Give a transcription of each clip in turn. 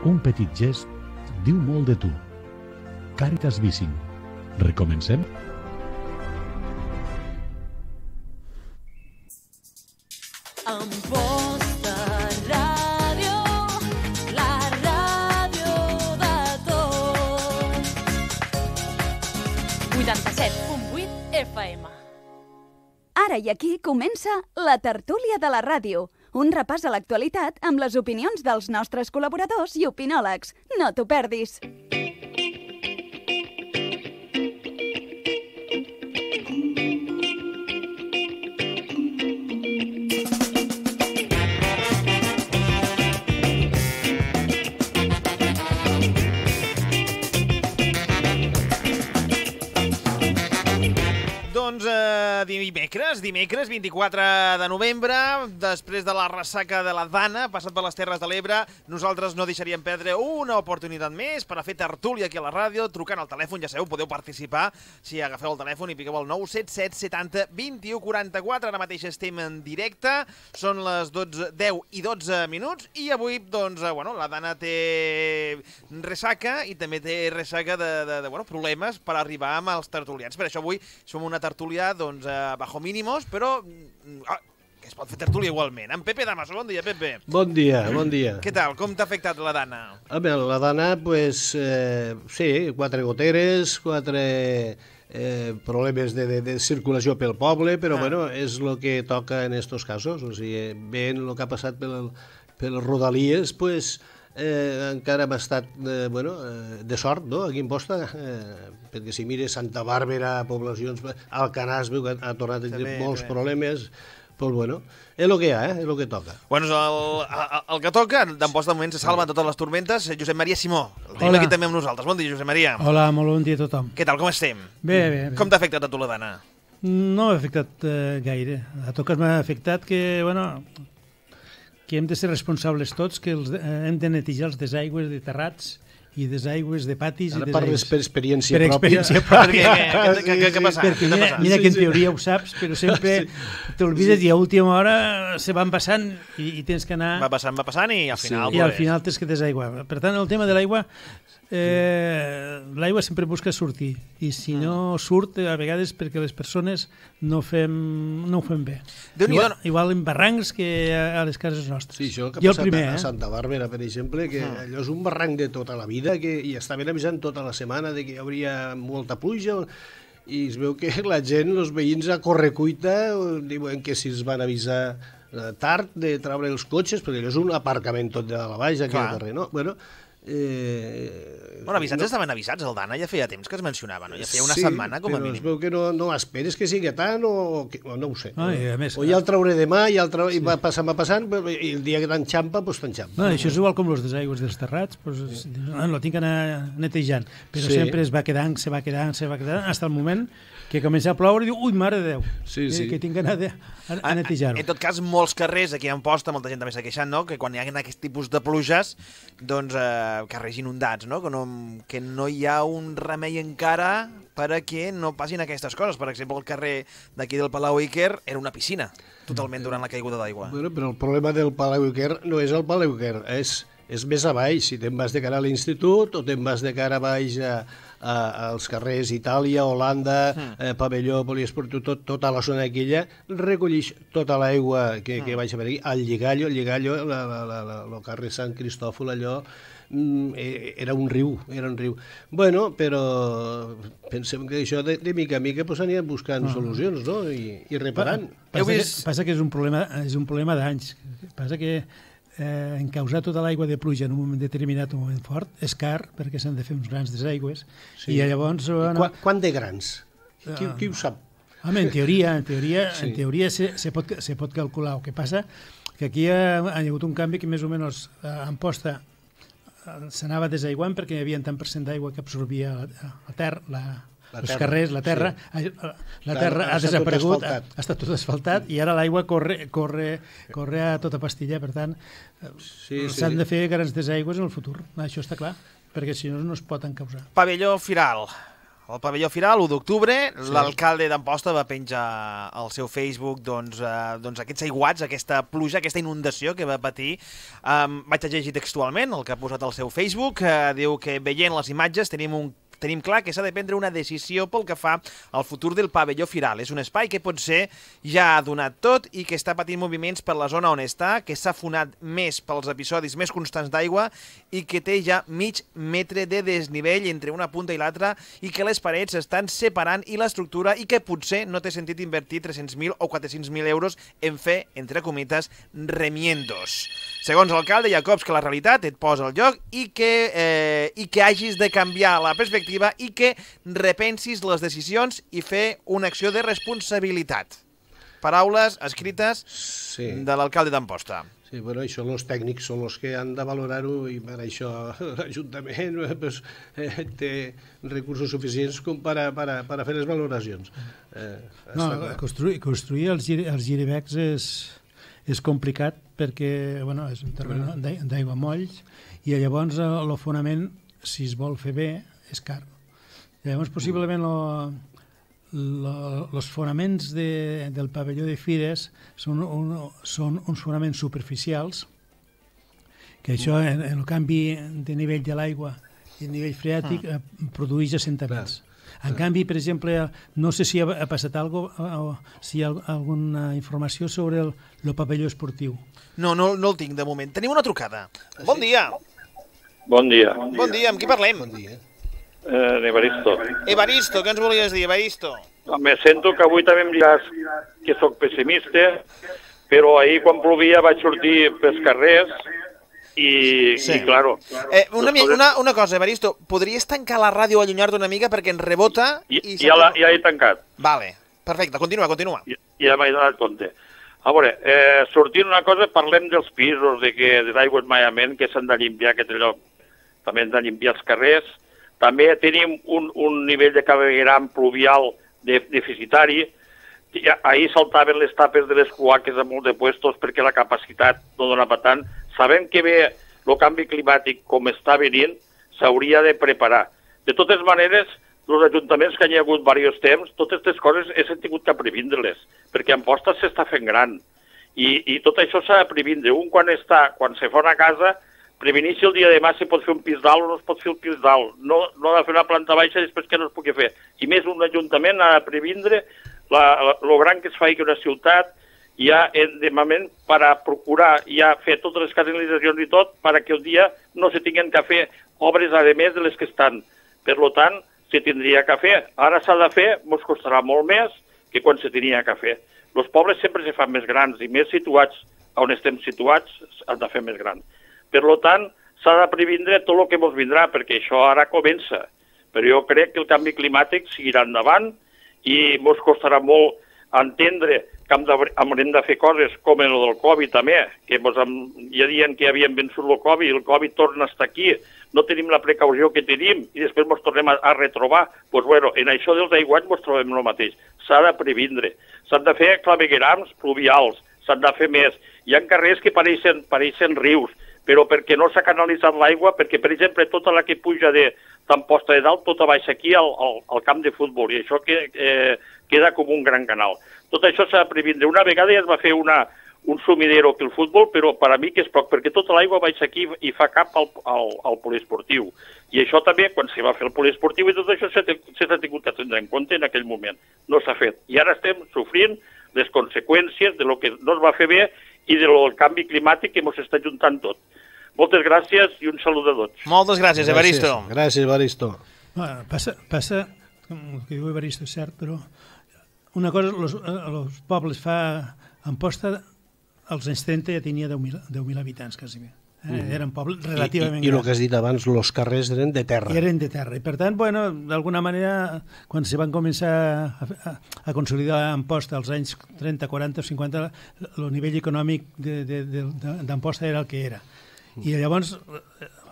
Un petit gest diu molt de tu. Càritas Vicing. Recomencem? Amposta Ràdio, la ràdio de tots. 87.8 FM. Ara i aquí comença la tertúlia de la ràdio, un repàs a l'actualitat amb les opinions dels nostres col·laboradors i opinòlegs. No t'ho perdis. Doncs dimecres 24 de novembre, després de la ressaca de la Dana, passat per les Terres de l'Ebre, nosaltres no deixaríem perdre una oportunitat més per a fer tertúlia aquí a la ràdio, trucant al telèfon, ja sabeu, podeu participar si agafeu el telèfon i piqueu el 977 70 21 44, ara mateix estem en directe, són les 10 i 12 minuts, i avui, doncs, la Dana té ressaca i també té ressaca de problemes per arribar amb els tertulians. Per això avui som una tertúlia, doncs, bajo mínimos, però que es pot fer tertúlia igualment. En Pepe Damaso, bon dia, Pepe. Bon dia, bon dia. Què tal? Com t'ha afectat la Dana? La Dana, pues, sí, 4 goteres, 4 problemes de circulació pel poble, però, bueno, és el que toca en estos casos. O sigui, veient el que ha passat per Rodalies, pues, encara hem estat de sort, no?, aquí en Posta, perquè si mires Santa Bàrbara, poblacions, Alcanàs, veu que ha tornat a tenir molts problemes, doncs, bueno, és el que hi ha, és el que toca. Bueno, el que toca, d'Amposta de moment se salven totes les tormentes. Josep Maria Simó, el tenim aquí també amb nosaltres. Bon dia, Josep Maria. Hola, molt bon dia a tothom. Què tal, com estem? Bé. Com t'ha afectat a tu la Dana? No m'ha afectat gaire. A totes m'ha afectat que hem de ser responsables tots, que hem de netejar els desaigües de terrats i desaigües de patis. Ara parles per experiència pròpia. Per experiència pròpia. Què ha passat? Mira que en teoria ho saps, però sempre t'olvides i a última hora se van passant i tens que anar... Va passant i al final... I al final tens que desaiguar. Per tant, el tema de l'aigua, l'aigua sempre busca sortir i si no surt, a vegades perquè les persones no ho fem bé. Igual en barrancs que a les cases nostres. Sí, això que ha passat a Santa Bàrbara, per exemple, que allò és un barranc de tota la vida i estaven avisant tota la setmana de que hi hauria molta pluja i es veu que la gent, els veïns a correcuita, diuen que si es van avisar tard de treure els cotxes, perquè allò és un aparcament tot de la baix aquí al carrer, no? Avisats estaven avisats, el Dana ja feia temps que es mencionava, no? Ja feia una setmana com a mínim. Sí, però es veu que no esperes que sigui tant o no ho sé. O ja el trauré demà i va passant i el dia que t'enxampa, doncs t'enxampa. Això és igual com els desaigües dels terrats, lo tinc que anar netejant, però sempre es va quedant, se va quedant, fins al moment que comença a ploure i diu, ui, mare de Déu, que tinc que anar a netejar-ho. En tot cas, molts carrers aquí a Amposta, molta gent també s'ha queixat, no?, que quan hi ha aquest tipus de pluges, doncs, carrers inundats, no?, que no hi ha un remei encara perquè no passin aquestes coses. Per exemple, el carrer d'aquí del Palau Iker era una piscina, totalment durant la caiguda d'aigua. Però el problema del Palau Iker no és el Palau Iker, és més a baix. Si te'n vas de cara a l'institut o te'n vas de cara a baix als carrers Itàlia, Holanda, Pavelló, Poliesportiu, tota la zona aquella, recollix tota l'aigua que baixa per aquí, al Lligallo, el carrer Sant Cristòfol, allò era un riu. Bueno, però pensem que això de mica a mica anirem buscant solucions, no?, i reparant. Passa que és un problema d'anys. Passa que encausar tota l'aigua de pluja en un moment determinat, un moment fort, és car, perquè s'han de fer uns grans desaigües, i llavors... Quant de grans? Qui ho sap? Home, en teoria se pot calcular. El que passa que aquí hi ha hagut un canvi que més o menys a Amposta s'anava desaiguant perquè hi havia tant % d'aigua que absorbia la terra, els carrers, la terra ha desaparegut, ha estat tot asfaltat i ara l'aigua corre a tota pastilla, per tant s'han de fer grans desaigües en el futur, això està clar, perquè si no es pot encausar. Pavelló Firal, El pavelló Firal, l'1 d'octubre, l'alcalde d'Amposta va penjar al seu Facebook doncs aquests aiguats, aquesta pluja, aquesta inundació que va patir. Vaig a llegir textualment el que ha posat al seu Facebook. Diu que veient les imatges tenim clar que s'ha de prendre una decisió pel que fa al futur del pavelló Firal. És un espai que potser ja ha donat tot i que està patint moviments per la zona on està, que s'ha fonat més pels episodis més constants d'aigua i que té ja mig metre de desnivell entre una punta i l'altra i que les parets estan separant i l'estructura i que potser no té sentit invertir 300.000 o 400.000 euros en fer, entre comites, remiendos. Segons l'alcalde Jacobs, que la realitat et posa al lloc i que hagis de canviar la perspectiva i que repensis les decisions i fer una acció de responsabilitat. Paraules escrites de l'alcalde d'Amposta. Sí, bueno, això els tècnics són els que han de valorar-ho i per això l'Ajuntament té recursos suficients com per a fer les valoracions. Construir els giribecs és complicat perquè és un terreny d'aigua molls i llavors el fonament, si es vol fer bé, és car. Llavors, possiblement, els fonaments del pavelló de Fires són uns fonaments superficials, que això, en el canvi de nivell de l'aigua i el nivell freàtic, produeix assentaments. En canvi, per exemple, no sé si ha passat alguna cosa o si hi ha alguna informació sobre el pavelló esportiu. No el tinc de moment. Tenim una trucada. Bon dia. Bon dia. Bon dia, amb qui parlem? Bon dia. Evaristo. Evaristo, què ens volies dir, Evaristo? Me sento que avui també em diràs que sóc pessimista, però ahir quan plovia vaig sortir pels carrers i claro... Una cosa, Evaristo, podries tancar la ràdio o allunyar-te una mica perquè ens rebota? Ja he tancat. Vale, perfecte, continua. Ja m'he donat compte. A veure, sortint una cosa, parlem dels pisos, de l'aigua esmaiament, que s'han de limpiar aquest lloc. També hem de limpiar els carrers. També tenim un nivell de clavegueram pluvial deficitari. Ahir saltaven les tapes de les cloaques a molts de puestos perquè la capacitat no donava tant. Sabem que bé el canvi climàtic com està venint s'hauria de preparar. De totes maneres, els ajuntaments que hi ha hagut diversos temps, totes aquestes coses hem tingut que previndre-les, perquè Amposta s'està fent gran. I tot això s'ha de previndre. Quan se fa una casa, prevenir si el dia de demà se pot fer un pis dalt o no es pot fer un pis dalt. No ha de fer una planta baixa després que no es pugui fer. I més, un ajuntament ha de previndre lo gran que es fa una ciutat ja de moment per a procurar ja fer totes les canalitzacions i tot perquè el dia no se tinguin que fer obres a més de les que estan. Per tant, se tindria que fer. Ara s'ha de fer, ens costarà molt més que quan se tenia que fer. Els pobles sempre se fan més grans i més situats on estem situats han de fer més grans. Per tant, s'ha de previndre tot el que ens vindrà, perquè això ara comença. Però jo crec que el canvi climàtic seguirà endavant i ens costarà molt entendre que haurem de fer coses com el del Covid també, que ja diuen que havien vençut el Covid i el Covid torna a estar aquí, no tenim la precaució que tenim i després ens tornem a retrobar. Doncs en això dels aiguats ens trobem el mateix. S'ha de previndre. S'han de fer claveguerams pluvials, s'han de fer més. Hi ha carrers que pareixen rius, però perquè no s'ha canalitzat l'aigua, perquè, per exemple, tota la que puja d'Amposta de Dalt, tota baixa aquí al camp de futbol, i això queda com un gran canal. Tot això s'ha de previndre. Una vegada ja es va fer un sumidero pel futbol, però per a mi que és poc, perquè tota l'aigua baixa aquí i fa cap al poliesportiu. I això també, quan se va fer el poliesportiu, i tot això s'ha tingut que tenir en compte en aquell moment. No s'ha fet. I ara estem sofrint les conseqüències de lo que no es va fer bé i del canvi climàtic que ens està juntant tot. Moltes gràcies i un salut a tots. Moltes gràcies, Evaristo. Gràcies, Evaristo. Passa, com que diu Evaristo, és cert, però una cosa, els pobles Amposta, als anys 30 ja tenia 10.000 habitants, quasi bé. Eren pobles relativament grans. I el que has dit abans, els carrers eren de terra. Eren de terra. I per tant, d'alguna manera, quan se van començar a consolidar Amposta als anys 30, 40 o 50, el nivell econòmic d'Amposta era el que era. I llavors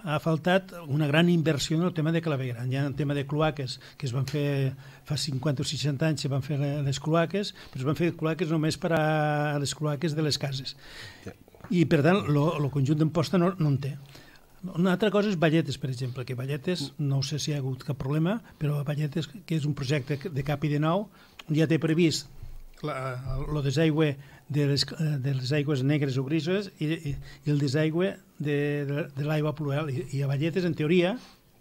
ha faltat una gran inversió en el tema de clavegueram. Hi ha un tema de cloaques que es van fer fa 50 o 60 anys, se van fer les cloaques, però es van fer cloaques només per a les cloaques de les cases. I per tant, el conjunt d'Amposta no en té. Una altra cosa és Valletes, per exemple, que Valletes, no sé si hi ha hagut cap problema, però Valletes, que és un projecte de cap i de nou, ja té previst el desaigüe de les aigües negres o grises i el desaigüe de l'aigua pluvial. I a Valletes, en teoria,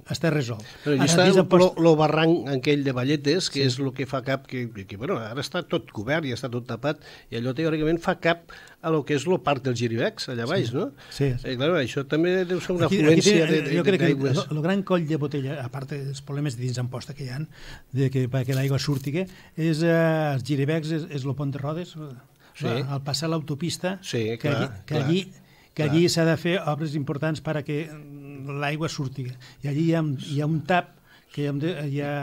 està resolt. Però allà està el barranc aquell de Valletes, que és el que fa cap, que bueno, ara està tot cobert i està tot tapat, i allò teòricament fa cap a lo que és el parc dels Giribecs, allà baix, no? Sí. Clar, això també deu ser una afluència d'aigües. Jo crec que el gran coll de botella, a part dels problemes de dins Amposta que hi ha, perquè l'aigua surti, és els Giribecs, és el pont de Rodes, al passar l'autopista, que allí s'ha de fer obres importants perquè l'aigua surti. I allí hi ha un tap que hi ha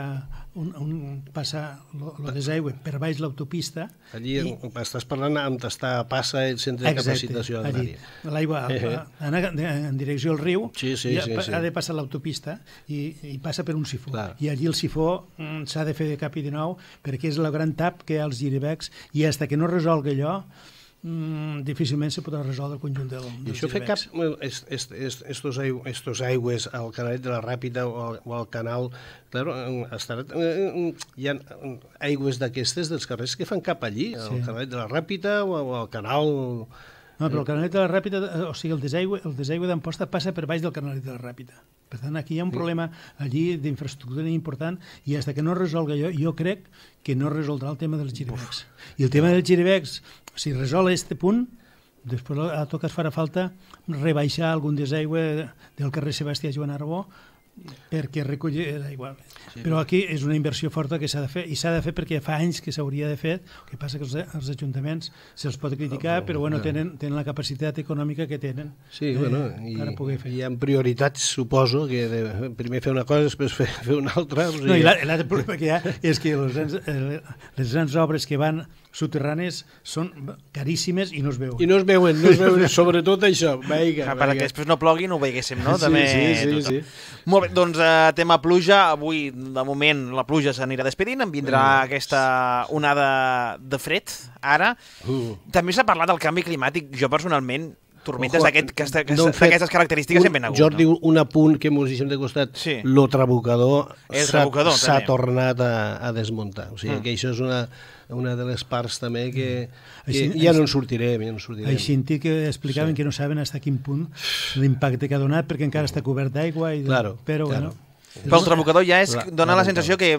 passa el desaigüe per baix l'autopista. Allí estàs parlant on passa el centre de capacitació. Allí. L'aigua en direcció al riu ha de passar l'autopista i passa per un sifó. I allí el sifó s'ha de fer de cap i de nou perquè és el gran tap que hi ha als Giribecs i fins que no resolgui allò difícilment se podrà resoldre el conjunt dels Giribecs. I això fer cap estos aigües al Canalet de la Ràpita o al canal, claro, hi ha aigües d'aquestes dels carrers que fan cap allí, al Canalet de la Ràpita o al canal. No, però el Canalet de la Ràpita, o sigui, el desaigüe d'Amposta passa per baix del Canalet de la Ràpita. Per tant, aquí hi ha un problema allí d'infraestructura important i fins que no resolgui allò, jo crec que no resoldrà el tema dels Giribecs. I el tema dels Giribecs, si resol aquest punt, després a tot cas farà falta rebaixar algun desaigüe del carrer Sebastià Joan Arbó perquè recolli l'aigua. Però aquí és una inversió forta que s'ha de fer, i s'ha de fer perquè fa anys que s'hauria de fer. El que passa que els ajuntaments se'ls pot criticar, però bueno, tenen la capacitat econòmica que tenen per poder fer. Hi ha prioritats, suposo, que primer fer una cosa, després fer una altra. No, i l'altre problema que hi ha és que les grans obres que van subterrànies són caríssimes i no es veuen. I no es veuen, sobretot això. Perquè després no plogui no ho veiéssim, no? Sí. Molt bé, doncs tema pluja. Avui, de moment, la pluja s'anirà despedint. En vindrà aquesta onada de fred, ara. També s'ha parlat del canvi climàtic. Jo, personalment, tormentes d'aquestes característiques sempre n'ha hagut. Jordi, un apunt que mos deixem de costat. El trabucador s'ha tornat a desmuntar. O sigui que això és una de les parts també que ja no en sortirem. Així que explicaven que no saben fins a quin punt l'impacte que ha donat perquè encara està cobert d'aigua. Però bueno... Però el trabucador ja dona la sensació que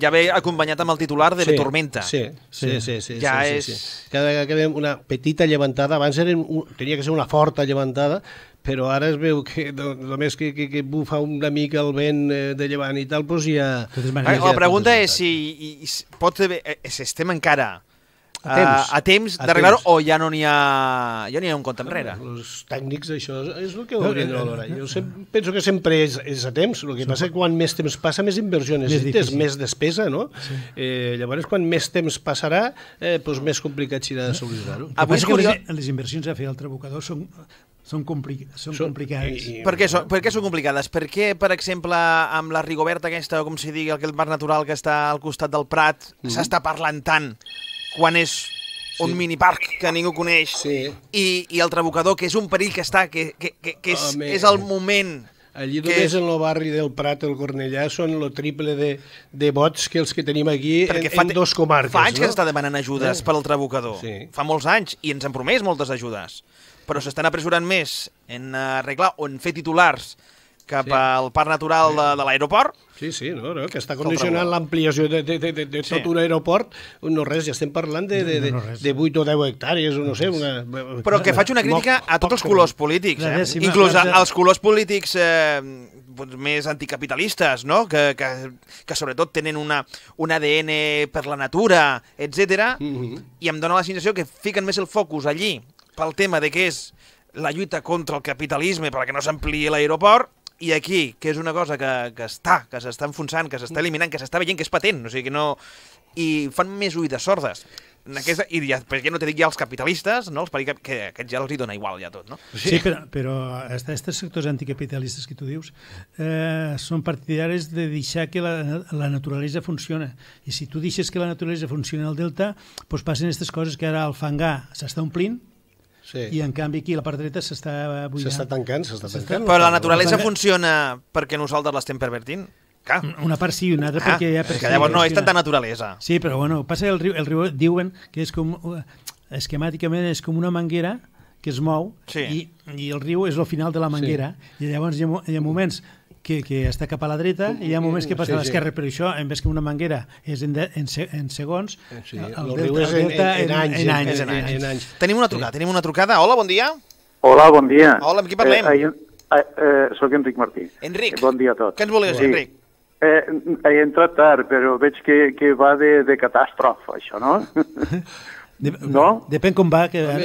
ja ve acompanyat amb el titular de tormenta. Sí. Cada vegada que veiem una petita llevantada, abans tenia que ser una forta llevantada, però ara es veu que només que bufa una mica el vent de llevant i tal, doncs ja... La pregunta és si estem encara a temps d'arreglar-ho o ja no n'hi ha un compte enrere. Els tècnics això és el que haurien de valorar. Jo penso que sempre és a temps, el que passa que quan més temps passa més inversió necessites, més despesa, no? Llavors quan més temps passarà més complicat serà de solucionar-ho. Les inversions a fer al trabucador són complicades. Per què són complicades? Perquè, per exemple, amb la Rigoberta aquesta, o com s'hi digui, el parc natural que està al costat del Prat, s'està parlant tant quan és un miniparc que ningú coneix i el trabucador, que és un perill que està, que és el moment... Allí només en el barri del Prat, el Cornellà, són el triple de vots que els que tenim aquí en dos comarques. Fa anys que s'està demanant ajudes per al trabucador. Fa molts anys, i ens han promès moltes ajudes. Però s'estan apressurant més en arreglar o en fer titulars cap al parc natural de l'aeroport. Sí, que està condicionant l'ampliació de tot un aeroport. No res, ja estem parlant de 8 o 10 hectàrees, o no sé. Però que faig una crítica a tots els colors polítics, inclús als colors polítics més anticapitalistes, que sobretot tenen un ADN per la natura, etc. I em dóna la sensació que fiquen més el focus allí pel tema de què és la lluita contra el capitalisme perquè no s'ampliï l'aeroport, i aquí, que és una cosa que s'està enfonsant, que s'està eliminant, que s'està veient que és patent, o sigui que no... I fan més oïdes sordes. I per què no te dic ja els capitalistes, que aquests ja els hi dona igual ja tot, no? Sí, però aquests sectors anticapitalistes que tu dius són partidaris de deixar que la naturalesa funciona. I si tu deixes que la naturalesa funcioni al delta, doncs passen aquestes coses que ara el fangar s'està omplint, i en canvi aquí a la part dreta s'està buidant. S'està tancant. Però la naturalesa funciona perquè nosaltres l'estem pervertint. Clar. Una part sí i una altra perquè ja... És que llavors no és tanta naturalesa. Sí, però bueno, passa que el riu diuen que és com... Esquemàticament és com una manguera que es mou i el riu és el final de la manguera i llavors hi ha moments que està cap a la dreta i hi ha moments que passa a l'esquerra, però això, en vez que una manguera és en segons, el riu és en anys. Tenim una trucada. Hola, bon dia. Hola, bon dia. Hola, amb qui parlem? Soc Enric Martí. Enric. Bon dia a tots. Què ens volies, Enric? He entrat tard, però veig que va de catàstrofe, això, no? No? Depèn com va, que va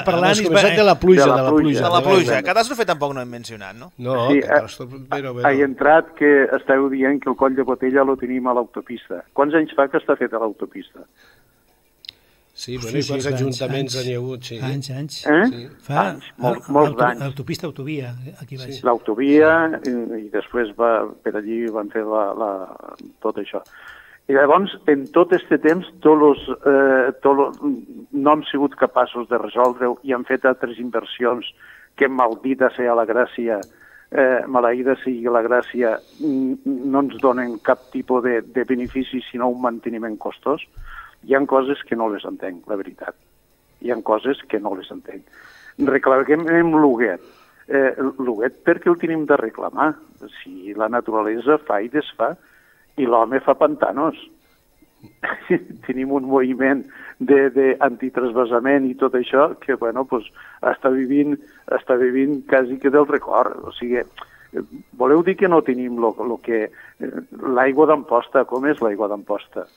parlant i de la pluja. De la pluja. Catàstrofe tampoc no hem mencionat, no? No, però... He entrat que esteu dient que el coll de Botella lo tenim a l'autopista. Quants anys fa que està fet a l'autopista? Sí, bueno, i quants ajuntaments n'hi ha hagut, sí. Anys. Fa molts anys. L'autopista, autovia, aquí baix. L'autovia, i després per allí van fer tot això. I llavors, en tot aquest temps, no hem sigut capaços de resoldre-ho i hem fet altres inversions que maldita sigui la gràcia, maleïda sigui la gràcia, no ens donen cap tipus de benefici sinó un manteniment costós. Hi ha coses que no les entenc, la veritat. Hi ha coses que no les entenc. Reclamem l'Huguet. L'Huguet perquè el tenim de reclamar. Si la naturalesa fa i desfà, i l'home fa pantanos. Tenim un moviment d'antitransvasament i tot això que, bueno, pues, està vivint quasi que del record. O sigui, voleu dir que no tenim l'aigua d'Amposta? Com és l'aigua d'Amposta?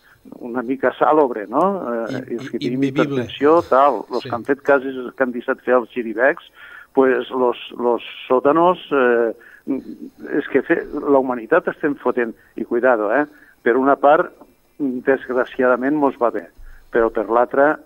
Una mica sàlobre, no? Els que tenim hipertensió, tal. Els que han fet cases que han deixat fer els giribecs, pues los sòtanos... És que la humanitat estem fotent, i cuidado, per una part, desgraciadament, mos va bé, però per l'altra...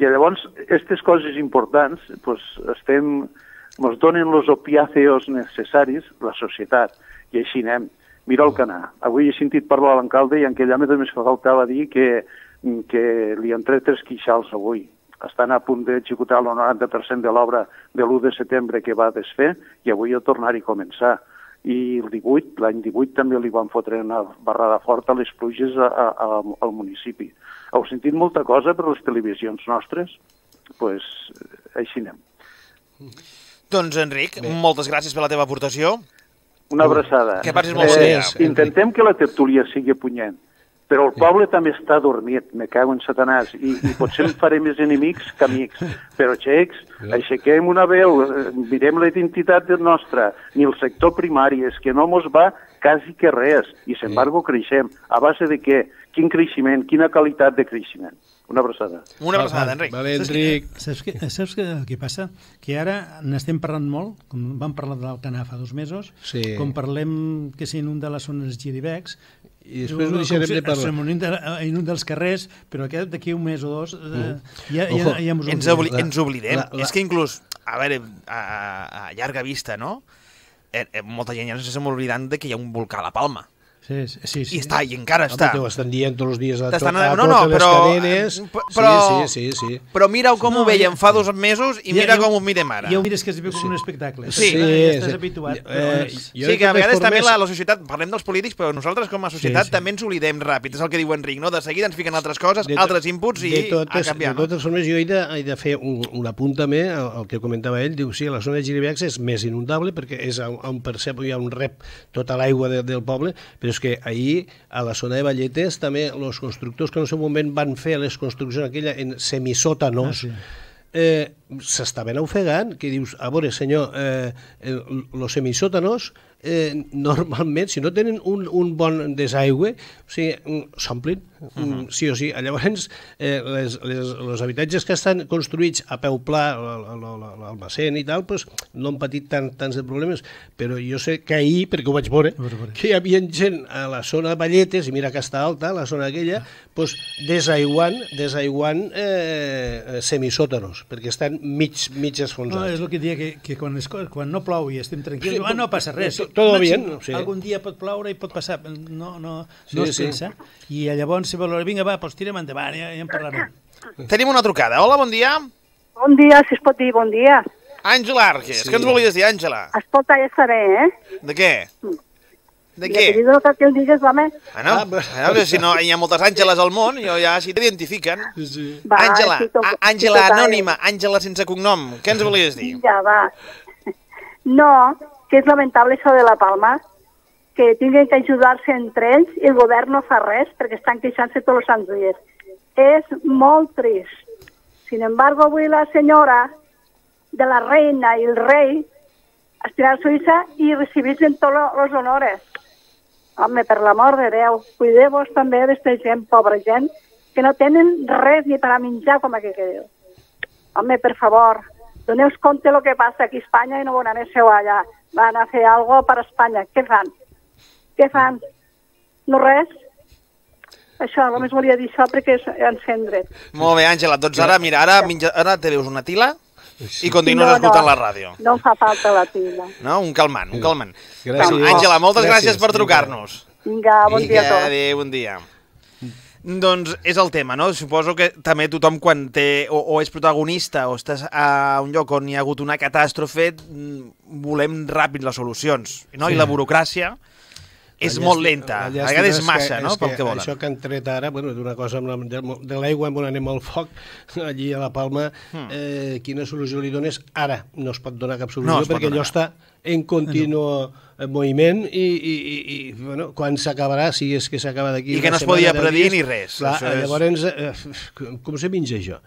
I llavors, aquestes coses importants, mos donen els opiáceos necessaris, la societat, i així anem. Mira el Canà. Avui he sentit parlar a l'alcalde i en aquell home només faltava dir que li han tret 3 queixals avui. Estan a punt d'executar el 90% de l'obra de l'1 de setembre que va desfer i avui a tornar-hi a començar. I l'any 18 també li van fotre una barrada forta a les pluges al municipi. Heu sentit molta cosa per les televisions nostres? Doncs així anem. Doncs, Enric, moltes gràcies per la teva aportació. Una abraçada. Que passis molt bon dia. Intentem que la tertúlia sigui punyent. Però el poble també està dormit, me cago en Satanàs, i potser em faré més enemics que amics. Però, xecs, aixequem una veu, mirem la identitat nostra, ni el sector primari, és que no mos va quasi que res, i, sin embargo, creixem. A base de què? Quin creixement? Quina qualitat de creixement? Una abraçada. Una abraçada, Enric. Vale, Enric. Saps què passa? Que ara n'estem parlant molt, com vam parlar del Canà fa 2 mesos, com parlem que s'inunda la zona dels giribecs, i després ho deixarem de parlar. Inunda els carrers, però d'aquí un mes o 2 ens oblidem. És que inclús, a veure, a llarga vista, no? Molta gent ja no s'està oblidant que hi ha un volcà a la Palma. Sí. I encara està. Ho estan dient tots els dies a totes les cadenes. Sí. Però mira com ho veiem fa 2 mesos i mira com ho mirem ara. Ja ho mires que es veu com un espectacle. Sí. Ja estàs habituat. Sí, que a vegades també la societat, parlem dels polítics, però nosaltres com a societat també ens oblidem ràpid. És el que diu Enric, no? De seguida ens fiquen altres coses, altres inputs i a canviar. De totes formes, jo he de fer un apunt també al que comentava ell. Diu, sí, la zona de giribecs és més inundable perquè és on percep hi ha un rep tota l'aigua del poble, però és que ahir a la zona de Valletes també els constructors que en el seu moment van fer les construccions aquella en semisòtanos s'estaven ofegant, que dius, a veure senyor, els semisòtanos normalment, si no tenen un bon desaigüe, o sigui, s'omplin, sí o sí. Llavors, els habitatges que estan construïts a peu pla, l'almacén i tal, no han patit tants de problemes, però jo sé que ahir, perquè ho vaig veure, que hi havia gent a la zona de Valletes, i mira que està alta, la zona aquella, desaiguant semisòtanos, perquè estan mig esfonsats. És el que dia que quan no plou i estem tranquils, no passa res. Todo bien. Algun dia pot ploure i pot passar, no es pensa. I llavors se valora, vinga, va, tirem endavant, ja en parlarem. Tenim una trucada. Hola, bon dia. Bon dia, si es pot dir bon dia. Àngela Arges, què ens volies dir, Àngela? Escolta, ja està bé, De què? De Ja què? t'he dit el que el digues, home. No, si no hi ha moltes Àngeles al món, ja si t'identifiquen. Va, Àngela, sí, Àngela total. anònima, Àngela sense cognom, què ens volies dir? Ja va. No, que és lamentable això de la Palma, que tinguin que ajudar-se entre ells i el govern no fa res perquè estan queixant-se tots els sants dies. És molt trist. Sin embargo, avui la senyora de la reina i el rei estirar a Suïssa i recibir-se tots els honores. Home, per l'amor de Déu, cuideu-vos també d'esta gent, pobra gent, que no tenen res ni per a menjar, com aquí que diu. Home, per favor, doneu compte el que passa aquí a Espanya i no van aneu allà. Van a fer alguna cosa per a Espanya. Què fan? Què fan? No res? Això, només volia dir això perquè encendre. Molt bé, Àngela, doncs ara, mira, ara te veus una tila i continues escoltant la ràdio. No em fa falta la tila. No? Un calmant, un calmant. Gràcies. Àngela, moltes gràcies per trucar-nos. Vinga, bon dia a tots. Adéu, bon dia. Doncs és el tema, no? Suposo que també tothom quan té o és protagonista o estàs a un lloc on hi ha hagut una catàstrofe, volem ràpid les solucions, no? I la burocràcia és molt lenta, a vegades massa, no?, pel que volen. Això que han tret ara, d'una cosa de l'aigua on anem al foc, allí a la Palma, quina solució li dones? Ara no es pot donar cap solució perquè allò està en continu moviment i quan s'acabarà, si és que s'acaba d'aquí... I que no es podia predir ni res. Llavors, com se menja això?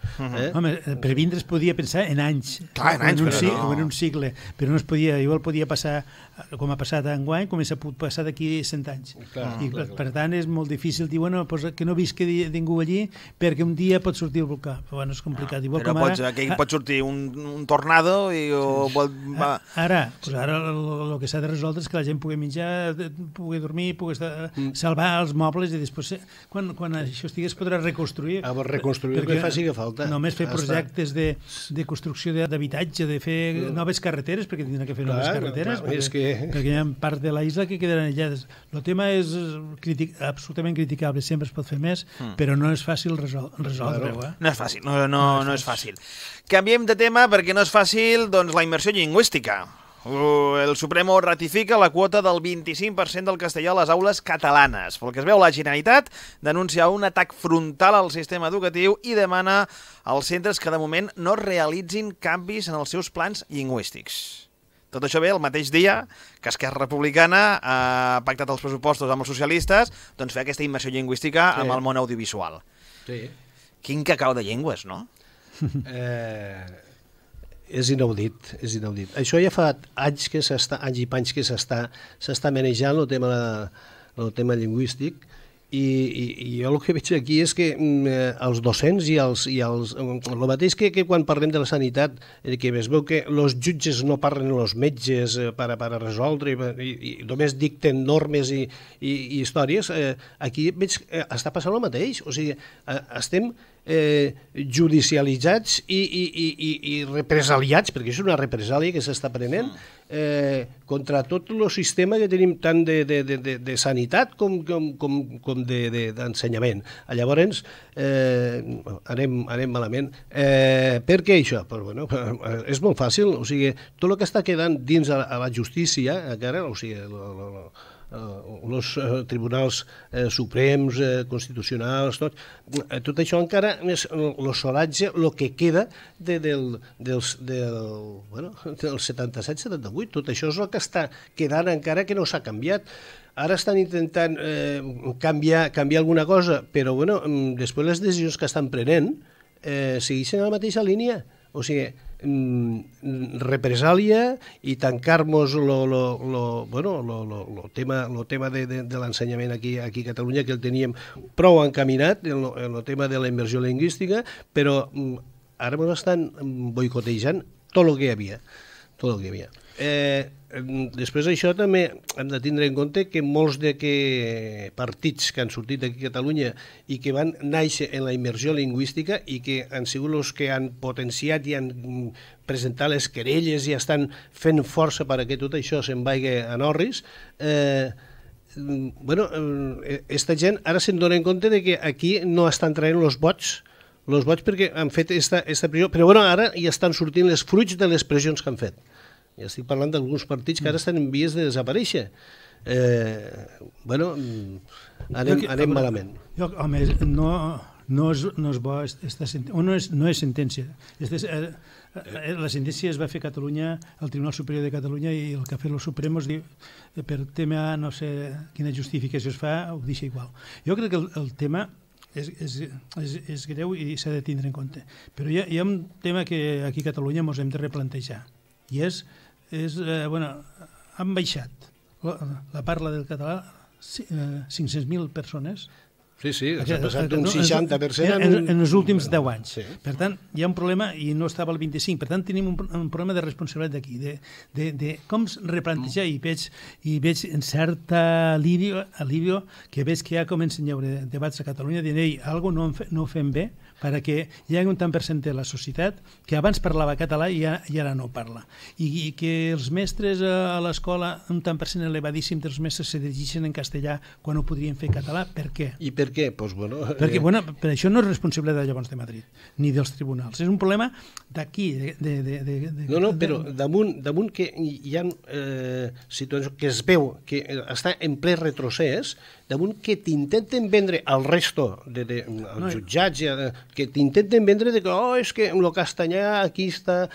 Home, per vindre es podia pensar en anys, o en un cicle, però no es podia, igual podia passar, com ha passat enguany, com s'ha pogut passar d'aquí 100 anys. I per tant és molt difícil dir, bueno, que no visqui ningú allí perquè un dia pot sortir el volcà. Però bueno, és complicat. Però pot sortir un tornado i... Ara el que s'ha de resoldre és que la gent pugui menjar, pugui dormir, pugui salvar els mobles i després, quan això estigui, es podrà reconstruir. Reconstruir el que faci que falta. Només fer projectes de construcció d'habitatge, de fer noves carreteres, perquè tindrà que fer noves carreteres, perquè hi ha part de la isla que quedaran aïllades. El tema és absolutament criticable, sempre es pot fer més, però no és fàcil resoldre-ho. No és fàcil, no és fàcil. Canviem de tema perquè no és fàcil la immersió lingüística. El Supremo ratifica la quota del 25% del castellà a les aules catalanes. Pel que es veu, la Generalitat denuncia un atac frontal al sistema educatiu i demana als centres que de moment no realitzin canvis en els seus plans lingüístics. Tot això ve el mateix dia que Esquerra Republicana ha pactat els pressupostos amb els socialistes, doncs fer aquesta immersió lingüística amb el món audiovisual. Quin cacau de llengües, no? És inaudit, és inaudit. Això ja fa anys i panys que s'està manejant el tema lingüístic i jo el que veig aquí és que els docents i el mateix que quan parlem de la sanitat, que es veu que els jutges no parlen els metges per a resoldre i només dicten normes i històries, aquí veig que està passant el mateix. O sigui, estem judicialitzats i represaliats, perquè és una represàlia que s'està prenent contra tot el sistema que tenim tant de sanitat com d'ensenyament. Llavors anem malament. Per què això? És molt fàcil, o sigui, tot el que està quedant dins a la justícia encara, o sigui, els tribunals suprems, constitucionals, tot això encara és el solatge, el que queda del 77-78, tot això és el que està quedant encara que no s'ha canviat. Ara estan intentant canviar alguna cosa, però després les decisions que estan prenent segueixen a la mateixa línia. O sigui, represàlia i tancar-nos el tema de l'ensenyament aquí a Catalunya, que el teníem prou encaminat, el tema de la immersió lingüística, però ara ens estan boicotejant tot el que hi havia. Després d'això també hem de tindre en compte que molts partits que han sortit aquí a Catalunya i que van néixer en la immersió lingüística i que han sigut els que han potenciat i han presentat les querelles i estan fent força perquè tot això se'n vagi a Norris, aquesta gent ara se'n dona en compte que aquí no estan traient els vots los boig perquè han fet esta pressió, però bueno, ara ja estan sortint les fruits de les pressions que han fet. Ja estic parlant d'alguns partits que ara estan en vies de desaparèixer. Bueno, anem malament. Home, no és bo, no és sentència. La sentència es va fer a Catalunya, al Tribunal Superior de Catalunya, i el que ha fet el Suprem es diu, per tema, no sé quina justificació es fa, ho deixa igual. Jo crec que el tema és greu i s'ha de tindre en compte. Però hi ha un tema que aquí a Catalunya ens hem de replantejar, i bueno, han baixat la parla del català 500.000 persones. Sí, s'ha passat d'un 60% en els últims 10 anys. Per tant, hi ha un problema i no estava al 25%. Per tant, tenim un problema de responsabilitat d'aquí, de com replantejar, i veig en certa alivio que veig que ja comencen a haver debats a Catalunya dient, ei, alguna cosa no ho fem bé, perquè hi ha un tant per cent de la societat que abans parlava català i ara no parla. I que els mestres a l'escola, un tant per cent elevadíssim dels mestres se dirigeixen en castellà quan ho podrien fer en català. Per què? I per què? Pues bueno, perquè per això no és responsabilitat llavors de Madrid, ni dels tribunals. És un problema d'aquí. No, però damunt que hi ha situacions que es veu que està en ple retrocés, damunt que t'intenten vendre al resto, als jutjats, que t'intenten vendre que és que el castellà aquí està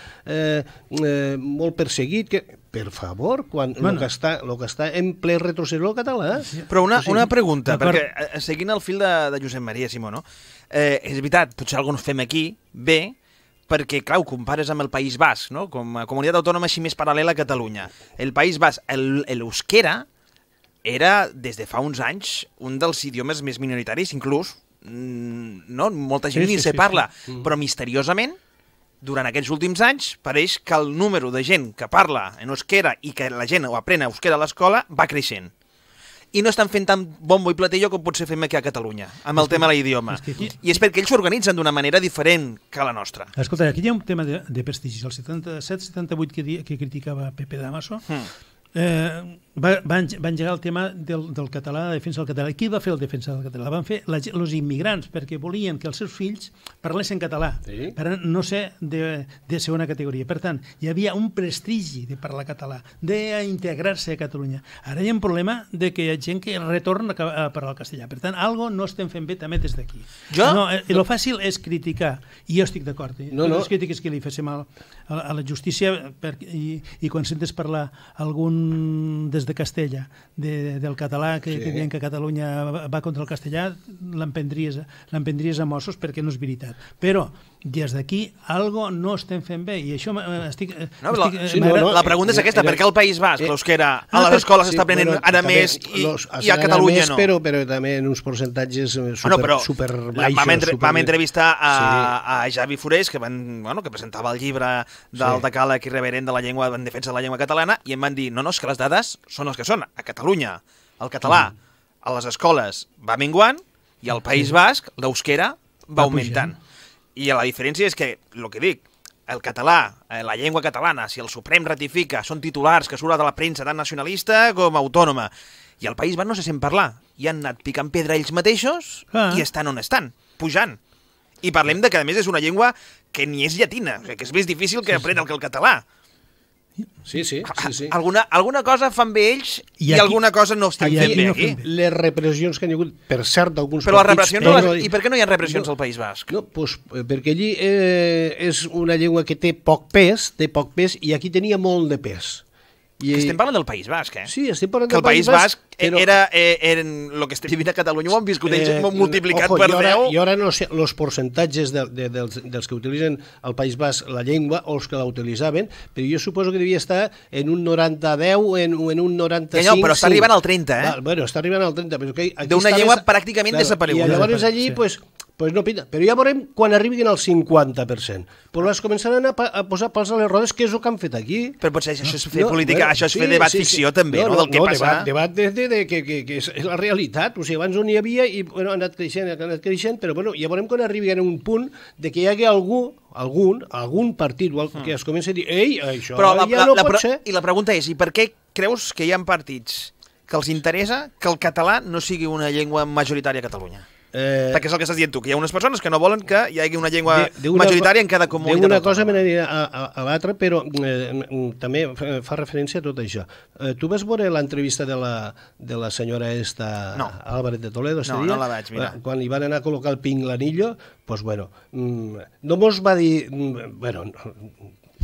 molt perseguit, que per favor, quan el que està en ple retrocés el català... Però una pregunta, perquè seguint el fil de Josep Maria Simó, no? És veritat, potser alguns fem aquí bé, perquè, clar, ho compares amb el País Basc, no? Com a comunitat autònoma així més paral·lela a Catalunya. El País Basc, l'euskera, era, des de fa uns anys, un dels idiomes més minoritaris, inclús, no? Molta gent ni se parla, però misteriosament, durant aquests últims anys, pareix que el número de gent que parla en euskera i que la gent ho aprèn euskera a l'escola va creixent. I no estan fent tant bombo i platillo com potser fem aquí a Catalunya, amb el tema de l'idioma. I és perquè ells s'organitzen d'una manera diferent que la nostra. Escolta, aquí hi ha un tema de prestigi. El 77-78 que criticava Pepe Damaso, va engegar el tema del català, la defensa del català. Qui va fer la defensa del català? Van fer els immigrants, perquè volien que els seus fills parlessin català, per no ser de segona categoria. Per tant, hi havia un prestigi de parlar català, d'integrar-se a Catalunya. Ara hi ha un problema de que hi ha gent que retorna a parlar el castellà. Per tant, algo no estem fent bé també des d'aquí. El fàcil és criticar, i jo estic d'acord. Les crítiques que li féssim a la justícia, i quan sentes parlar algun des de Castella, del català, que diuen que Catalunya va contra el castellà, l'emprendries a Mossos perquè no és veritat. Però des d'aquí algo no estem fent bé, i això estic... La pregunta és aquesta, per què al País Basc l'euskera a les escoles s'està aprenent ara més i a Catalunya no? Però també en uns percentatges superbaixos. Vam entrevistar a Javi Forés, que presentava el llibre del decàleg irreverent de la llengua en defensa de la llengua catalana, i em van dir, no, és que les dades són les que són. A Catalunya el català a les escoles va minguant i al País Basc l'euskera va augmentant. I la diferència és que, el que dic, el català, la llengua catalana, si el Suprem ratifica, són titulars que surten de la premsa tant nacionalista com autònoma. I al País Basc no se sent parlar. I han anat picant pedra ells mateixos i estan on estan, pujant. I parlem de que, a més, és una llengua que ni és llatina, que és més difícil que aprendre que el català. Sí. Alguna cosa fan bé ells i alguna cosa no estan fent bé aquí. Les repressions que han hagut, per cert, d'alguns partits... Però les repressions, i per què no hi ha repressions al País Basc? No, perquè allí és una llengua que té poc pes, i aquí tenia molt de pes. Estem parlant del País Basc, eh? Sí, estem parlant del País Basc. Era el que estem vivint a Catalunya, ho han viscut ells multiplicat per 10. I ara no sé els percentatges dels que utilitzen al País Basc la llengua o els que la utilitzaven, però jo suposo que devia estar en un 90-10 o en un 95-5. Però està arribant al 30, eh? Bueno, està arribant al 30. D'una llengua pràcticament desapareguda. I llavors allí, pues no pinta. Però ja veurem quan arribin al 50%. Però les començaran a posar pals a les rodes, que és el que han fet aquí. Però potser això és fer política, això és fer debat ficció també, no? Del que passa. Debat que és la realitat. O sigui, abans no n'hi havia i ha anat creixent, però ja veurem quan arribin a un punt de que hi hagi algun partit que es comenci a dir ei, això ja no pot ser. I la pregunta és, i per què creus que hi ha partits que els interessa que el català no sigui una llengua majoritària a Catalunya? Perquè és el que estàs dient tu, que hi ha unes persones que no volen que hi hagi una llengua majoritària en cada comunitat. D'una cosa me n'aniré a l'altra, però també fa referència a tot això. Tu vas veure l'entrevista de la senyora Álvarez de Toledo? No la vaig mirar. Quan li van anar a col·locar el pinganillo, doncs, bueno, no mos va dir... Bueno,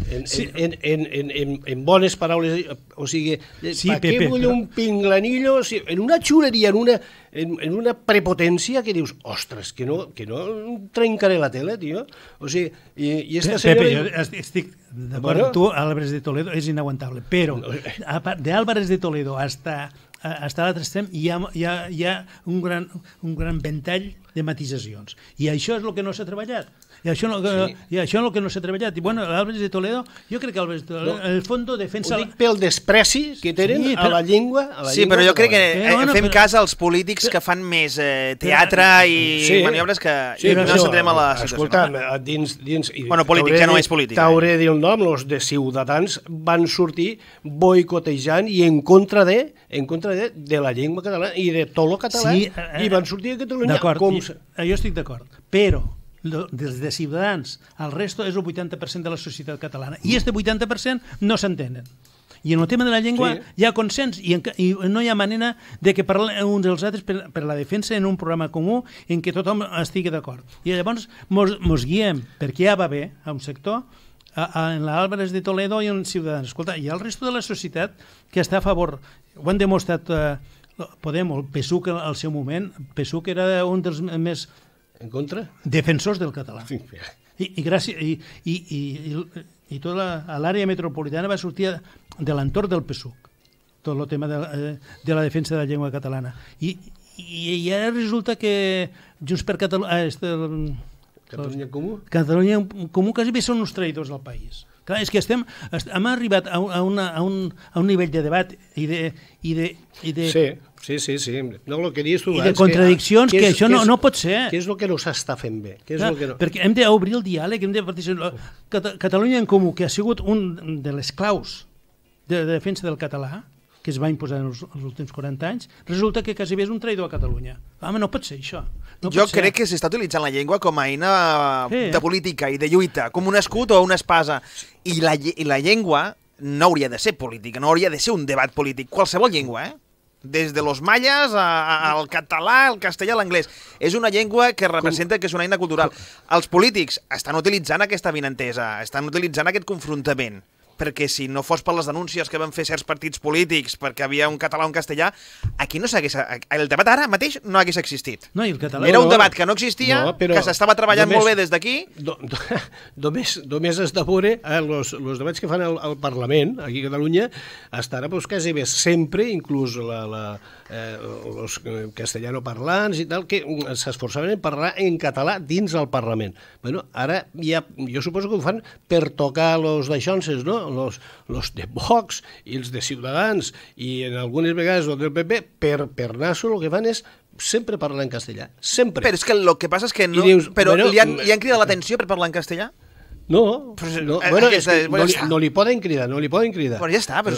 en bones paraules, o sigui, per què vull un pinganillo en una xuleria, en una prepotència que dius, ostres, que no trencaré la tele, tio. O sigui, i esta senyora... Pepe, jo estic d'acord amb tu, Álvarez de Toledo és inaguantable, però de Álvarez de Toledo hasta l'altre extrem hi ha un gran ventall de matisacions. I això és el que no s'ha treballat. I això és el que no s'ha treballat. I bueno, Álvarez de Toledo, jo crec que Álvarez de Toledo, en el fons, defensa... Ho dic pel despreci que tenen a la llengua. Sí, però jo crec que fem cas als polítics que fan més teatre i maniobres que no s'entrem a la situació. Escolta, dins... Bueno, polític ja no és polític. T'hauré de dir el nom, els de Ciutadans van sortir boicotejant i en contra de la llengua catalana i de tot el català, i van sortir a Catalunya. D'acord, jo estic d'acord, però des de Ciutadans al resto és el 80% de la societat catalana, i este 80% no s'entenen. I en el tema de la llengua hi ha consens i no hi ha manera de que parlem uns dels altres per la defensa en un programa comú en què tothom estigui d'acord. I llavors mos guiem perquè ja va bé a un sector, en l'Álvarez de Toledo i en Ciutadans. Escolta, hi ha el resto de la societat que està a favor. Ho han demostrat Podem, el PSUC al seu moment. PSUC era un dels més en contra? Defensors del català. I tota l'àrea metropolitana va sortir de l'entorn del PSUC, tot el tema de la defensa de la llengua catalana. I ara resulta que Junts per Catalunya... Catalunya Comú? Catalunya Comú quasi bé són uns traïdors del país. Clar, és que hem arribat a un nivell de debat i de Sí. No, el que dius tu, i de contradiccions que això no pot ser. Què és el que no s'està fent bé? Perquè hem d'obrir el diàleg, hem de participar. Catalunya en Comú, que ha sigut un de les claus de defensa del català, que es va imposar en els últims 40 anys, resulta que quasi bé és un traïdor a Catalunya. Home, no pot ser això. Jo crec que s'està utilitzant la llengua com a eina de política i de lluita, com un escut o una espasa. I la llengua no hauria de ser política, no hauria de ser un debat polític. Qualsevol llengua, des de los mayas al català, al castellà, a l'anglès. És una llengua que representa que és una eina cultural. Els polítics estan utilitzant aquesta avinentesa, estan utilitzant aquest confrontament, perquè si no fos per les denúncies que van fer certs partits polítics perquè havia un català o un castellà, aquí no s'hagués... El debat ara mateix no hagués existit. No, i el català... Era un debat que no existia, que s'estava treballant molt bé des d'aquí. Només has de veure els debats que fan al Parlament, aquí a Catalunya, estarà quasi bé sempre, inclús els castellanoparlants i tal, que s'esforçaven en parlar en català dins el Parlament. Bueno, ara jo suposo que ho fan per tocar els d'aixonses, no? Los de Vox i els de Ciutadans i en algunes vegades els del PP, per naso el que fan és sempre parlar en castellà, sempre. Però és que el que passa és que no... Però li han cridat l'atenció per parlar en castellà? No, no li poden cridar, Però ja està, però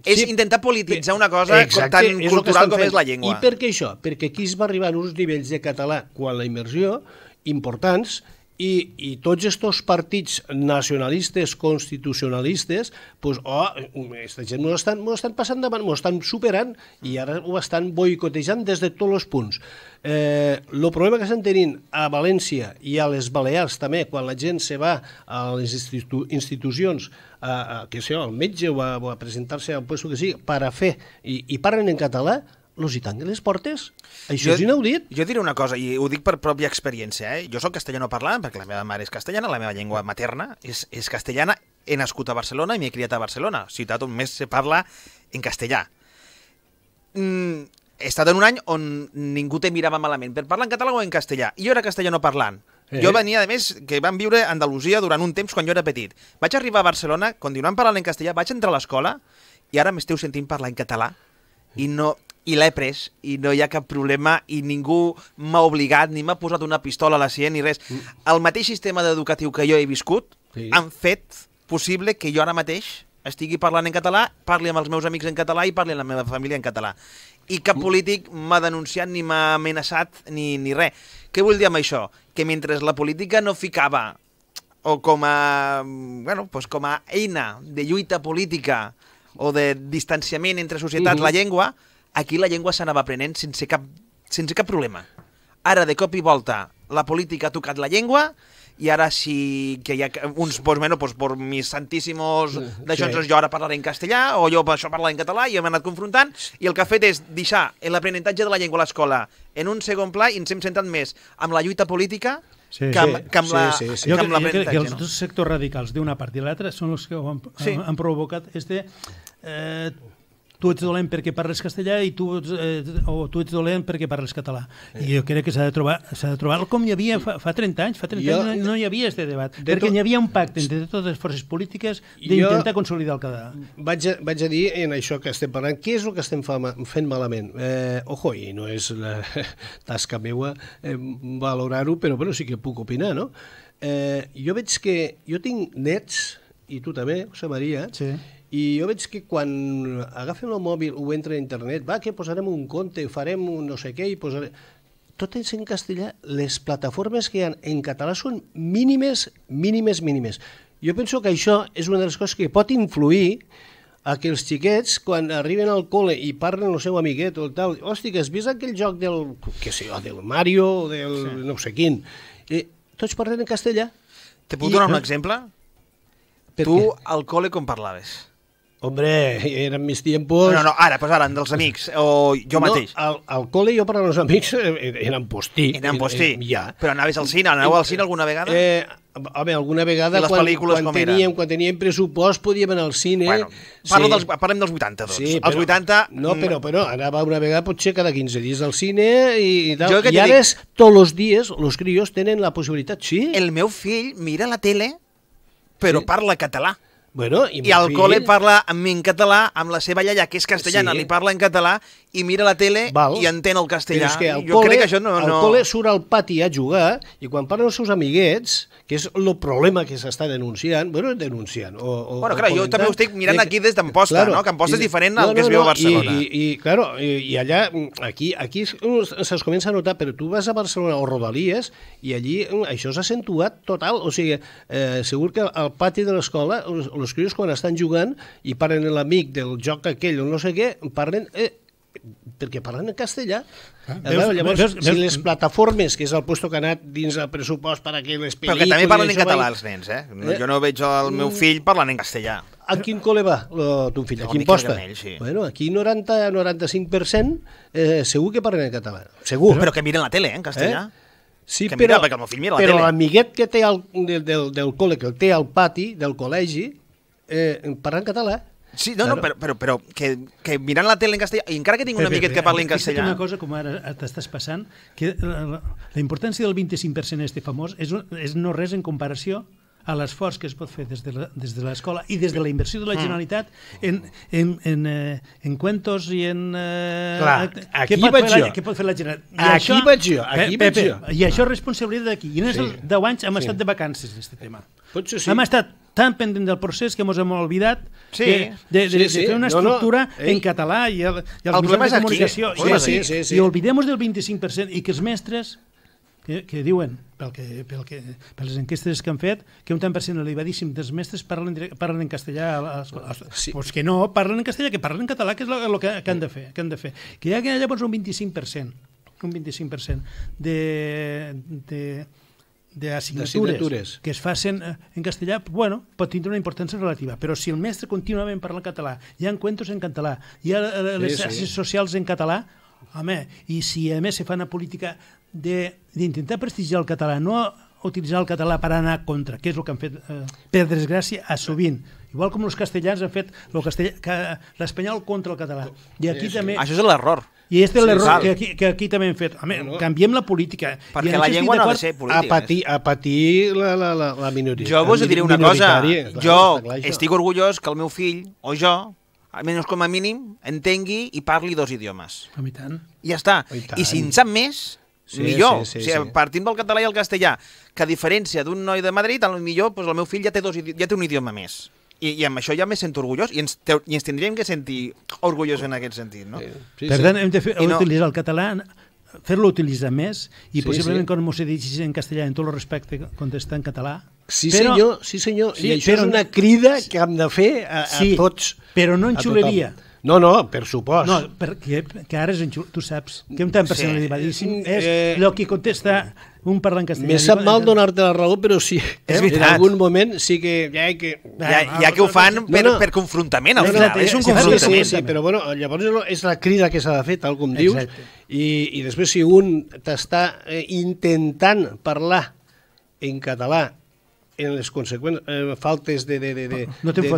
és intentar polititzar una cosa tan cultural com és la llengua. I per què això? Perquè aquí es va arribar a uns nivells de català quan la immersió importants i tots aquests partits nacionalistes, constitucionalistes, aquesta gent m'ho estan passant davant, m'ho estan superant i ara ho estan boicotejant des de tots els punts. El problema que estan tenint a València i a les Balears també, quan la gent se va a les institucions, que sé, al metge o a presentar-se a un lloc que sigui, per a fer, i parlen en català, los hi tanquen les portes? Això és inaudit. Jo diré una cosa, i ho dic per pròpia experiència. Jo soc castellano parlant, perquè la meva mare és castellana, la meva llengua materna és castellana, he nascut a Barcelona i m'he criat a Barcelona, ciutat on més se parla en castellà. He estat en un any on ningú te mirava malament per parlar en català o en castellà. I jo era castellano parlant. Jo venia, a més, que vam viure a Andalusia durant un temps quan jo era petit. Vaig arribar a Barcelona, continuant parlant en castellà, vaig entrar a l'escola i ara m'esteu sentint parlar en català i l'he pres, i no hi ha cap problema, i ningú m'ha obligat, ni m'ha posat una pistola a la sient, ni res. El mateix sistema educatiu que jo he viscut han fet possible que jo ara mateix estigui parlant en català, parli amb els meus amics en català i parli amb la meva família en català. I cap polític m'ha denunciat ni m'ha amenaçat ni res. Què vull dir amb això? Que mentre la política no ficava o com a eina de lluita política o de distanciament entre societats la llengua, aquí la llengua s'anava aprenent sense cap problema. Ara, de cop i volta, la política ha tocat la llengua i ara sí que hi ha uns, por mis santíssimos d'això, jo ara parlaré en castellà o jo això parlaré en català i hem anat confrontant i el que ha fet és deixar l'aprenentatge de la llengua a l'escola en un segon pla i ens hem centrat més amb la lluita política que amb l'aprenentatge. Jo crec que els dos sectors radicals d'una part i l'altra són els que han provocat tu ets dolent perquè parles castellà i tu ets dolent perquè parles català. I jo crec que s'ha de trobar com hi havia fa 30 anys. Fa 30 anys no hi havia aquest debat, perquè hi havia un pacte entre totes les forces polítiques d'intentar consolidar el català. Vaig a dir en això que estem parlant, què és el que estem fent malament? Ojo, i no és la tasca meua valorar-ho, però sí que puc opinar, no? Jo veig que jo tinc nets, i tu també, José María, i jo veig que quan agafen el mòbil o entra a internet, que posarem un conte, farem un no sé què, i posarem... Tot és en castellà. Les plataformes que hi ha en català són mínimes. Jo penso que això és una de les coses que pot influir a que els xiquets, quan arriben al col·le i parlen el seu amiguet o tal, hosti, que has vist aquell joc del Mario o del no sé quin, tots parlen en castellà. Te puc donar un exemple? Tu al col·le com parlaves? Hombre, eren mis tiempos... No, ara, dels amics, o jo mateix. Al col·le jo per als amics eren postí. Però anaves al cine? Aneu al cine alguna vegada? Home, alguna vegada quan teníem pressupost podíem anar al cine. Parlem dels 80, doncs. Els 80... No, però anava una vegada potser cada 15 dies al cine i tal. I ara tots els dies els crios tenen la possibilitat, sí. El meu fill mira la tele, però parla català. I al col·le parla amb mi en català, amb la seva iaia, que és castellana, li parla en català i mira la tele i entén el castellà. Jo crec que això no... Al col·le surt al pati a jugar i quan parlen els seus amiguets, que és el problema que s'està denunciant, jo també ho estic mirant aquí des d'Amposta, no? Que Amposta és diferent al que es veu a Barcelona. I allà, aquí se'ls comença a notar, però tu vas a Barcelona o Rodalies i allí això s'ha accentuat total, o sigui, segur que al pati de l'escola els crios quan estan jugant i parlen l'amic del joc aquell o no sé què, parlen... perquè parlen en castellà. Llavors, si les plataformes, que és el puesto que ha anat dins el pressupost per a que les pel·lícules... Però que també parlen en català els nens, eh? Jo no veig el meu fill parlant en castellà. A quin col·le va ton fill? A quin posta? Bueno, aquí 90-95% segur que parlen en català. Segur. Però que miren la tele, en castellà. Sí, però l'amiguet que té del col·le, que el té al pati del col·legi, parla en català. Sí, però que mirant la tele en castellà, i encara que tinc un amiguet que parli en castellà... Una cosa, com ara t'estàs passant, que la importància del 25% este famós és no res en comparació a l'esforç que es pot fer des de l'escola i des de la inversió de la Generalitat en cuentos i en... Aquí vaig jo. Què pot fer la Generalitat? Aquí vaig jo. I això és responsabilitat d'aquí. I en els 10 anys hem estat de vacances, aquest tema. Potser sí. Hem estat tan pendent del procés que ens hem oblidat de fer una estructura en català i els mitjans de comunicació. I oblidem-nos del 25% i que els mestres que diuen, per les enquestes que han fet, que un tant per cent elevadíssim dels mestres parlen en castellà a l'escola. Doncs que no, parlen en castellà, que parlen en català, que és el que han de fer. Que hi ha llavors un 25% d'assignatures que es facin en castellà, pot tindre una importància relativa, però si el mestre contínuament parla en català, hi ha encuentros en català, hi ha les xarxes socials en català, home, i si a més se fa una política d'intentar prestigiar el català, no utilitzar el català per anar contra, que és el que han fet, per desgràcia, sovint. Igual com els castellans han fet l'espanyol contra el català. I aquí també... Això és l'error. I aquest és l'error que aquí també hem fet. Canviem la política. Perquè la llengua no ha de ser política. A patir la minoria. Jo vos diré una cosa. Jo estic orgullós que el meu fill, o jo, almenys com a mínim, entengui i parli 2 idiomes. I tant. I ja està. I si en sap més, millor. Partint del català i el castellà, que a diferència d'un noi de Madrid, potser el meu fill ja té un idioma més. I amb això ja me sento orgullós i ens tindríem que sentir orgullosos en aquest sentit, no? Per tant, hem de utilitzar el català, fer-lo utilitzar més i possiblement quan m'ho digis en castellà en tot el respecte contestar en català. Sí, senyor. I això és una crida que hem de fer a tots. Però no en xuleria. No, per supost. No, perquè ara és en xuleria. Tu saps que un tant personalitzadíssim és el que contesta un parlant castellà. Me sap mal donar-te la raó, però sí. En algun moment sí que... Ja que ho fan per confrontament, al final. És un confrontament. Sí, però bueno, llavors és la crida que s'ha de fer, tal com dius, i després si un t'està intentant parlar en català en les conseqüents faltes de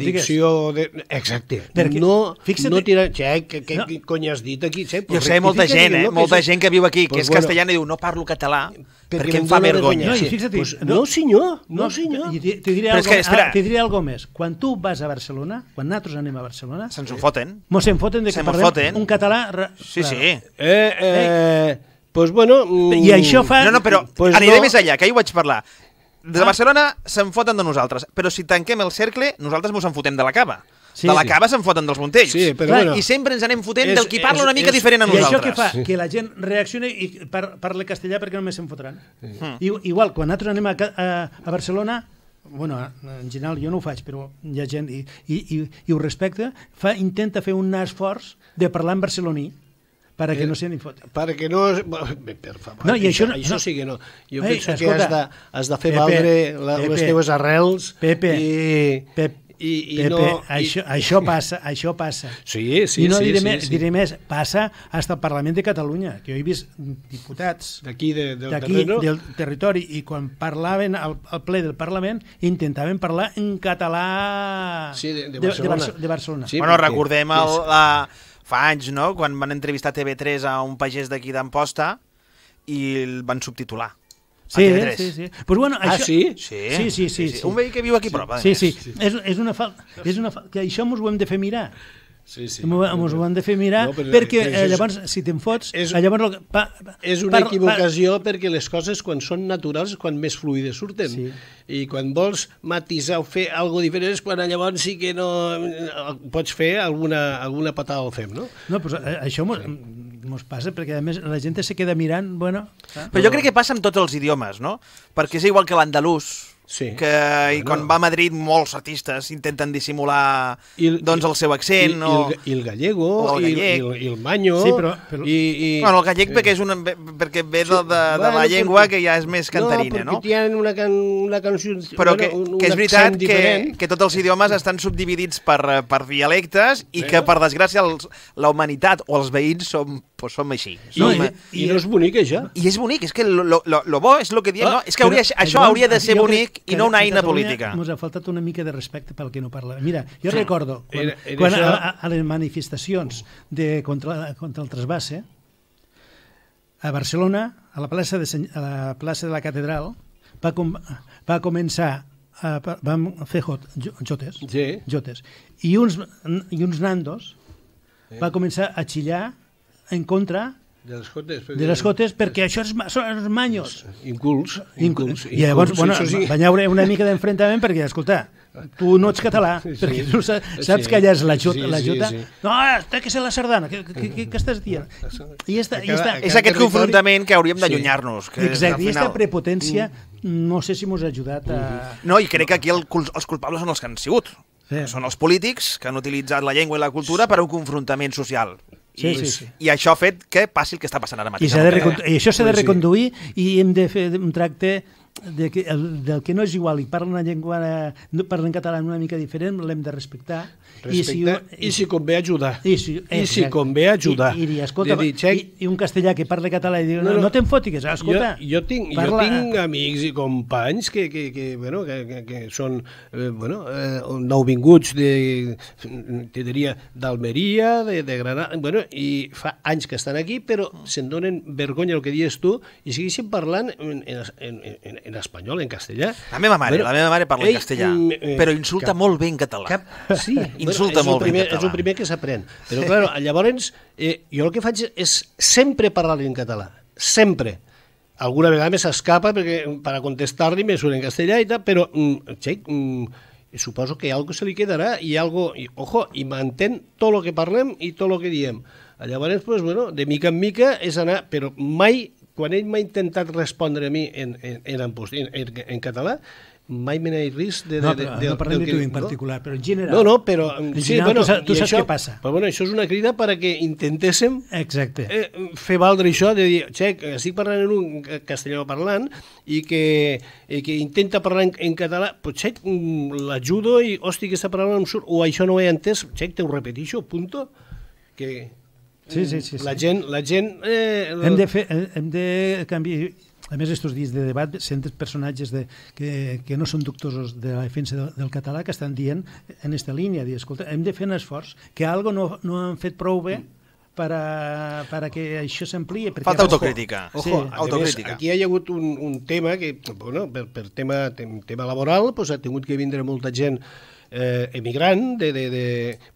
dicció... Exacte. No tirar... Què cony has dit aquí? Jo sé molta gent que viu aquí, que és castellana i diu no parlo català perquè em fa vergonya. No, senyor. Te diré algo més. Quan tu vas a Barcelona, quan nosaltres anem a Barcelona... Se'ns en foten. Mos en foten de que parlem un català... Sí. Pues bueno... I això fa... No, però aniré més allà, que ahir vaig parlar. De Barcelona se'n foten de nosaltres, però si tanquem el cercle, nosaltres mos en fotem de la cava. De la cava se'n foten dels Montells. I sempre ens anem fotent del qui parla una mica diferent a nosaltres. I això què fa? Que la gent reaccioni i parli castellà perquè només se'n fotran. Igual, quan nosaltres anem a Barcelona, bueno, en general jo no ho faig, però hi ha gent i ho respecta, intenta fer un esforç de parlar en barceloní, perquè no se n'hi fot. Perquè no... Per favor, això sí que no. Jo penso que has de fer valdre les teves arrels. Pepe, això passa. Sí. I no diré més, passa fins al Parlament de Catalunya, que jo he vist diputats d'aquí del territori, i quan parlaven al ple del Parlament intentaven parlar en català de Barcelona. Bueno, recordem fa anys, no?, quan van entrevistar TV3 a un pagès d'aquí d'Amposta i el van subtitular. Sí. Pues bueno, això... Sí? Sí. Un veí que viu aquí prop. Sí. És una falta. Que això mos ho hem de fer mirar. Sí. Mos ho hem de fer mirar, perquè llavors, si te'n fots... És una equivocació perquè les coses, quan són naturals, quan més fluides surten. I quan vols matisar o fer alguna diferent és quan llavors sí que no pots fer alguna patada al fem, no? No, però això mos passa, perquè a més la gent se queda mirant, bueno... Però jo crec que passa amb tots els idiomes, no? Perquè és igual que l'andalús, i quan va a Madrid molts artistes intenten dissimular doncs el seu accent. I el gallego, i el manyo... Bueno, el gallec perquè ve de la llengua que ja és més cantarina, no? No, perquè tenen una canció... Però que és veritat que tots els idiomes estan subdividits per dialectes i que, per desgràcia, la humanitat o els veïns som així. I no és bonic, això? I és bonic, és que lo bo és el que diem, no? És que això hauria de ser bonic i no una eina política. Ens ha faltat una mica de respecte pel que no parla. Mira, jo recordo quan a les manifestacions contra el trasbasse, a Barcelona, a la plaça de la Catedral, va començar, vam fer jotes, i uns nandos va començar a xillar en contra de les jotes, perquè això són els manyos. Incults. I llavors, bueno, van haure una mica d'enfrontament perquè, escolta, tu no ets català, perquè tu saps que allà és la jota. No, té que ser la sardana, què estàs dient? És aquest confrontament que hauríem d'allunyar-nos. Exacte, i aquesta prepotència no sé si mos ha ajudat a... No, i crec que aquí els culpables són els que han sigut. Són els polítics que han utilitzat la llengua i la cultura per a un confrontament social. I això ha fet que passi el que està passant ara mateix. I això s'ha de reconduir i hem de fer un tracte del que no és igual i parla una llengua, parla en català una mica diferent, l'hem de respectar. I si convé ajudar. I un castellà que parla català i diu, no te'n fotis, escolta. Jo tinc amics i companys que són nouvinguts d'Almeria, de Granada, i fa anys que estan aquí, però se'n donen vergonya el que dius tu i segueixen parlant en espanyol, en castellà. La meva mare parla en castellà, però insulta molt bé en català. Sí, insulta molt bé en català. És el primer que s'aprèn. Però, clar, llavors, jo el que faig és sempre parlar en català. Sempre. Alguna vegada me s'escapa per a contestar-li me surt en castellà i tal, però, suposo que algo se li quedarà i algo, i mantén tot el que parlem i tot el que diem. Llavors, pues, bueno, de mica en mica és anar, però mai, quan ell m'ha intentat respondre a mi en català, mai me n'he risc de... No, però no parlem de tu en particular, però en general... No, però... Sí, bueno, tu saps què passa. Però bueno, això és una crida perquè intentéssim fer valdre això, de dir, xec, estic parlant en un castellà parlant i que intenta parlar en català, però xec, l'ajudo i, hosti, que està parlant amb surt, o això no ho he entès, xec, te ho repetixo, punto, que... Sí. La gent... Hem de canviar... A més, aquests dies de debat senten personatges que no són doctors de la defensa del català que estan dient en aquesta línia, dir, escolta, hem de fer un esforç, que algo no han fet prou bé per a que això s'amplia. Falta autocrítica. Autocrítica. Aquí hi ha hagut un tema que, bueno, per tema laboral, doncs, ha tingut que vindre molta gent emigrant,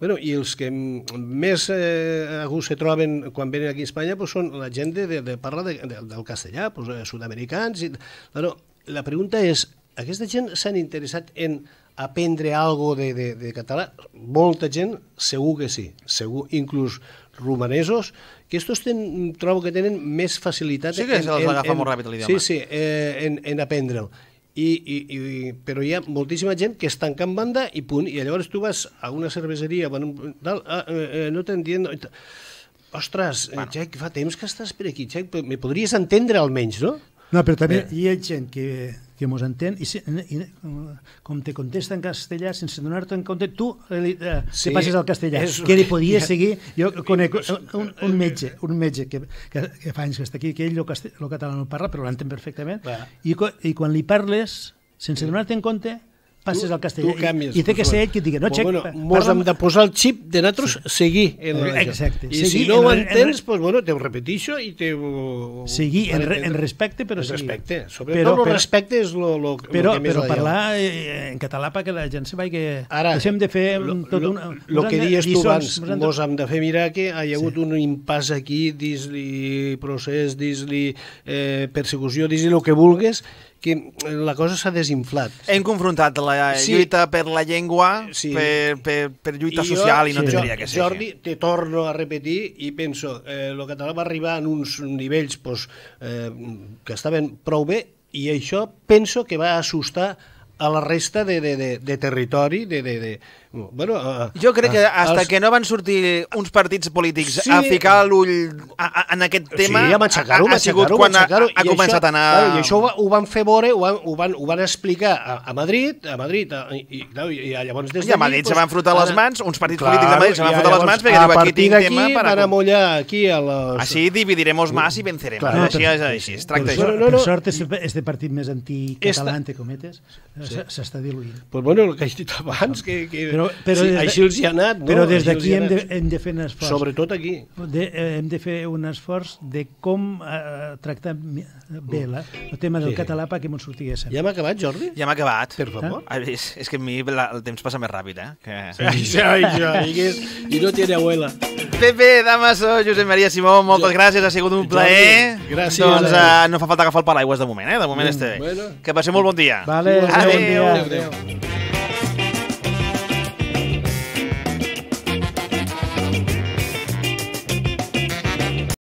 bueno, i els que més a gust se troben quan venen aquí a Espanya pues, són la gent de parla del castellà, pues, sud-americans. Bueno, la pregunta és, aquesta gent s'han interessat en aprendre alguna cosa de català? Molta gent, segur que sí, segur, inclús romanesos, que estos trobo que tenen més facilitat... Sí que se'ls agafa molt ràpid l'idioma. Sí, en aprendre'l. Però hi ha moltíssima gent que es tanca en banda i punt, i llavors tu vas a una cerveseria, no t'entiendo... Ostres, Xec, fa temps que estàs per aquí, Xec, me podries entendre almenys, no? No, però també hi ha gent que mos entén i com te contesta en castellà sense donar-te en compte, tu te passes al castellà, que li podies seguir. Jo conec un metge que fa anys que està aquí, que ell el català no parla, però l'entén perfectament, i quan li parles, sense donar-te en compte, passes al castellà. I té que ser ell qui et digui, no, Xec... Mos hem de posar el xip de nosaltres seguir. Exacte. I si no ho entens, te ho repetixo i te ho... Seguir en respecte, però seguir. Respecte. Sobretot el respecte és el que més... Però parlar en català perquè la gent se vagi que... Ara, deixem de fer tot un... El que dius tu abans, mos hem de fer mirar que hi ha hagut un impàs aquí, dis-li procés, dis-li persecució, dis-li el que vulgues, que la cosa s'ha desinflat. Hem confrontat la lluita per la llengua per lluita social i no tindria que ser. Jordi, te torno a repetir i penso, el català va arribar en uns nivells que estaven prou bé i això penso que va assustar a la resta de territori, jo crec que hasta que no van sortir uns partits polítics a ficar l'ull en aquest tema, ha sigut quan ha començat a anar... I això ho van fer veure, ho van explicar a Madrid, i llavors des d'aquí... I a Madrid se van frotar les mans, uns partits polítics de Madrid se van frotar les mans perquè diu, aquí tinc tema... Van amollar aquí a los... Així dividiremos más i venceremos. Així es tracta això. Per sort, este partit més anticatalà, entre cometes, s'està diluint. Pues bueno, el que he dit abans, que així els hi ha anat. Però des d'aquí hem de fer un esforç. Sobretot aquí. Hem de fer un esforç de com tractar bé el tema del català perquè m'ho sortiguéssim. Ja hem acabat, Jordi? Ja hem acabat. Per favor. És que a mi el temps passa més ràpid, I no tiene abuela. Pepe, Damaso, Josep Maria Simó, moltes gràcies, ha sigut un plaer. Gràcies. Doncs no fa falta agafar el paraigües de moment, de moment està bé. Que passem molt bon dia. Vale, adéu.